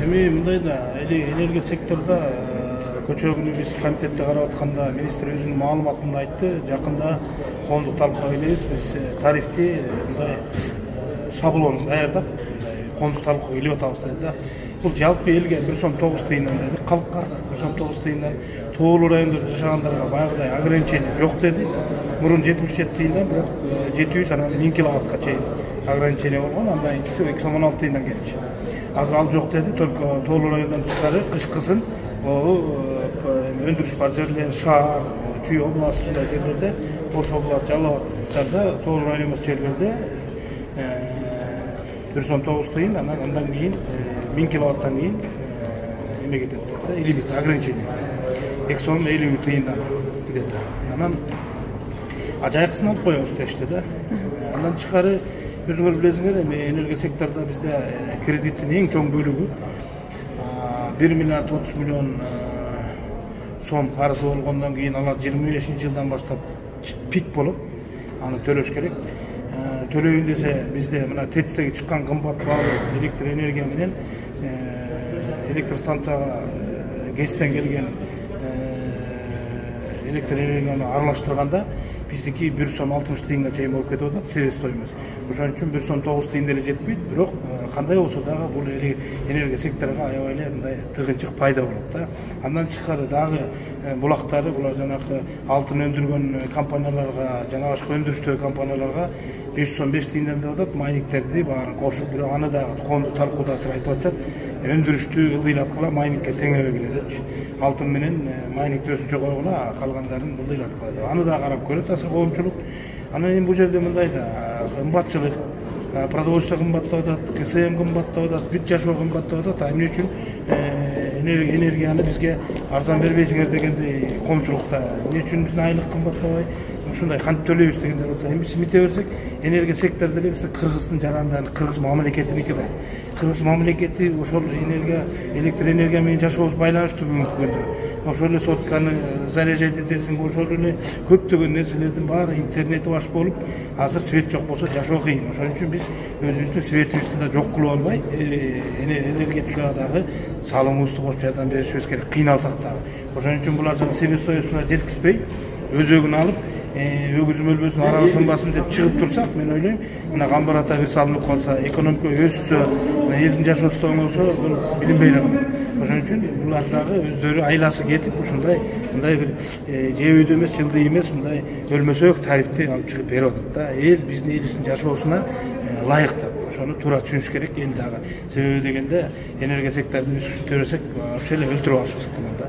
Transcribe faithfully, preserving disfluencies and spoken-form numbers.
эми мындай да энергия секторунда көчө күнү биз комитетте карап атканда министр өзүнүн маалыматында айтты. Жакында коомдук талкууга келебиз. Биз тарифти мындай шаблон даярдап коомдук талкууга келип атабыз деди да. Бул жалпы элге бир сом тогуз тыйындан деди, калкка бир сом тогуз тыйындан, тоолуу райондордо жашагандарга баягыдай ограничение жок деди. Мурун жетимиш жети тыйындан, бирок жети жүз анан миң киловаттка чейин ограничение болгон, андан кийинкиси эки сом он алты тыйындан келчү. Азыр ал жок деди, только тоолуу райондон тышкары кышкысын өндүрүш бар жерлер, шаар, Чүй областы ушундай жерлерде, Ош областы, Жалал Абадтарда, тоолуу район эмес жерлерде бир сом тогуз тыйын, анан андан кийин миң киловаттан кийин эме кетет да, лимит, ограничение. эки сом элүү тыйындан кетет. Анан ажайкысын алып коебуз дешти да. Андан тышкары өзүңөр билесиңер, эми энергия секторунда бизде кредиттин эң чоң бөлүгү бир миллиард отуз миллион сом карызы болгондон кийин алар жыйырма бешинчи жылдан баштап пик болуп, аны төлөш керек. Төлөйүн десе бизде мына ТЭЦтеги чыккан кымбат баалуу электр энергия менен электр станцияга ГЭСтен келген электр энергияны аралаштырганда биздики бир сом алтымыш тыйынга чейин болуп кетип атат, себес стоимость. Ошон үчүн бир сом тогуз тыйын деле жетпейт, бирок кандай болсо дагы бул энергия секторуна аябай эле мындай тыгынчык пайда болот да. Андан тышкары дагы булактары, булар жанагы алтын өндүргөн компанияларга, жана башка өндүрүштөгү компанияларга беш жүз он беш тыйындан деп атат, майнингтерди баарын кошуп, бирок аны дагы коомдук талкууда азыр айтып атышат, өндүрүштү ылдыйлаткыла, майнингке теңебегиле депчи. Алтын менен майнингти өзүнчө койгула, калгандарын ылдыйлаткыла деп. Аны да карап көрөт азыр коомчулук. Анан эми бул жерде мындай да кымбатчылык, продовольствие кымбаттап атат, КСМ кымбаттап атат, бүт жашоо кымбаттап атат. Эмне үчүн энергияны бизге арзан бербейсиңер дегендей коомчулукта, эмне үчүн биздин айлык кымбаттабай, ушундай кантип төлөйбүз дегендер отурат. Эми биз мите берсек, энергия сектору деле биз Кыргыздын жарандары, Кыргыз мамлекетиники да. Кыргыз мамлекети ошол энергия, электр энергия менен жашообуз байланыштуу бүгүнкү күндө. Ошол эле сотканы заряжать этесиң, ошол эле көптөгөн нерселердин баары интернети баш болуп, азыр свет жок болсо жашоо кыйын. Ошон үчүн биз өзүбүздүн светибизди да жок кылып албай, энергетикага дагы салымыбызды кошуп жардам беришибиз керек, кыйналсак дагы. Ошон үчүн булар жана себестоюусуна жеткизбей, өзөгүн алып, өгүзүм өлбөсүн, арабы сынбасын деп чыгып турсак, мен ойлойм, мына камбар ата бир салынып калса, экономика өссө, элдин жашоосу да оңолсо, бул билинбей эле калат. Ошон үчүн булар дагы өздөрү айласы кетип, ушундай мындай бир жебөйдө эмес, жылдый эмес, мындай өлмөсөк тарифти алып чыгып берип атат да. Эл биздин элибиздин жашоосуна ылайыктап, ошону туура түшүнүш керек эл дагы. Себеби дегенде энергия секторунда биз ушинте берсек, вообще эле өлтүрүп алышыбыз ыктымал да.